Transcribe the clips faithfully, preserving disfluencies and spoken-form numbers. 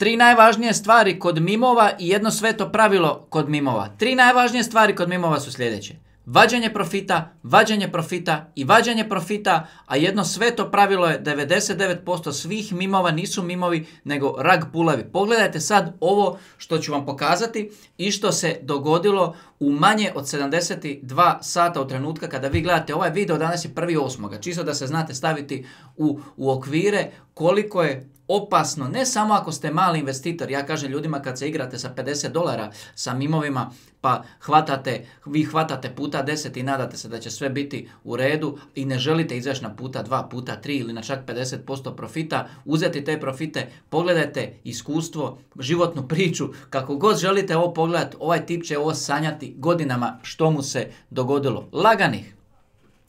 Tri najvažnije stvari kod mimova i jedno sveto pravilo kod mimova. Tri najvažnije stvari kod mimova su sljedeće. Vađenje profita, vađenje profita i vađenje profita, a jedno sveto pravilo je devedeset devet posto svih mimova nisu mimovi nego rag pulovi. Pogledajte sad ovo što ću vam pokazati i što se dogodilo u manje od sedamdeset dva sata od trenutka kada vi gledate ovaj video. Danas je prvi osmi Čisto da se znate staviti u, u okvire koliko je opasno, ne samo ako ste mali investitor. Ja kažem ljudima kad se igrate sa pedeset dolara sa mimovima pa hvatate, vi hvatate puta deset i nadate se da će sve biti u redu i ne želite izaći na puta dva, puta tri ili na čak pedeset posto profita, uzeti te profite, pogledajte iskustvo, životnu priču, kako god želite ovo pogledati, ovaj tip će ovo sanjati godinama što mu se dogodilo. Laganih,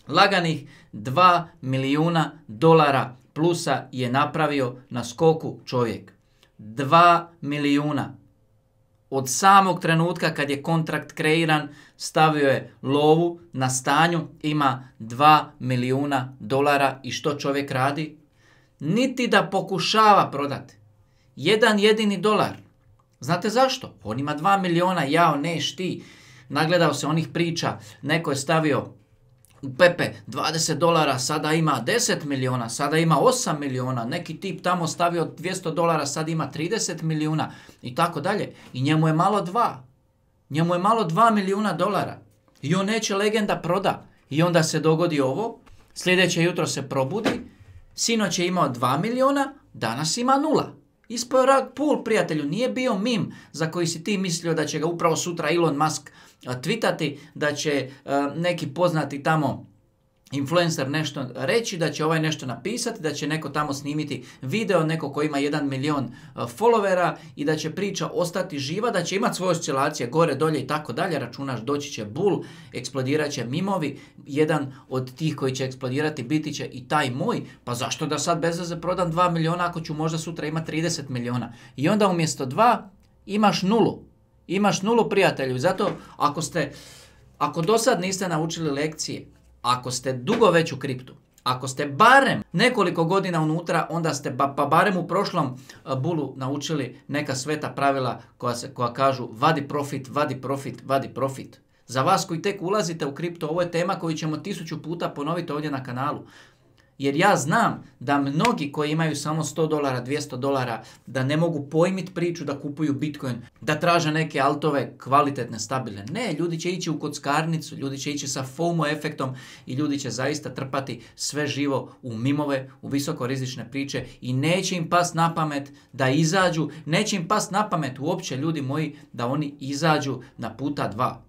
laganih dva milijuna dolara plusa je napravio na skoku čovjek. dva milijuna. Od samog trenutka kad je kontrakt kreiran, stavio je lovu na stanju, ima dva milijuna dolara i što čovjek radi? Niti da pokušava prodati. Jedan jedini dolar. Znate zašto? On ima dva milijuna, jao neš ti. Nagledao se onih priča, neko je stavio u Pepe dvadeset dolara, sada ima deset milijuna, sada ima osam milijuna, neki tip tamo stavio dvjesto dolara, sad ima trideset milijuna i tako dalje. I njemu je malo dva. Njemu je malo dva milijuna dolara. I on neće legenda proda. I onda se dogodi ovo, sljedeće jutro se probudi, sinoć je imao dva milijuna, danas ima nula. Ispao je rag pull, prijatelju, nije bio mim za koji si ti mislio da će ga upravo sutra Elon Musk tweetati, da će uh, neki poznati tamo influencer nešto reći, da će ovaj nešto napisati, da će neko tamo snimiti video, neko ko ima jedan milion uh, followera i da će priča ostati živa, da će imati svoje oscilacije gore, dolje i tako dalje, računaš doći će bull, eksplodirat će mimovi, jedan od tih koji će eksplodirati biti će i taj moj, pa zašto da sad bez veze prodam dva milijuna ako ću možda sutra imati trideset milijuna. I onda umjesto dva imaš nulu. Imaš nulu, prijatelju. Zato ako ste, ako do sad niste naučili lekcije, ako ste dugo već u kriptu, ako ste barem nekoliko godina unutra, onda ste ba, pa barem u prošlom uh, bulu naučili neka sveta pravila koja, se, koja kažu vadi profit, vadi profit, vadi profit. Za vas koji tek ulazite u kripto, ovo je tema koju ćemo tisuću puta ponoviti ovdje na kanalu. Jer ja znam da mnogi koji imaju samo sto dolara, dvjesto dolara, da ne mogu pojmiti priču da kupuju Bitcoin, da traže neke altove kvalitetne, stabilne. Ne, ljudi će ići u kockarnicu, ljudi će ići sa FOMO efektom i ljudi će zaista trpati sve živo u mimove, u visokorizične priče i neće im past na pamet da izađu, neće im past na pamet uopće, ljudi moji, da oni izađu na puta dva.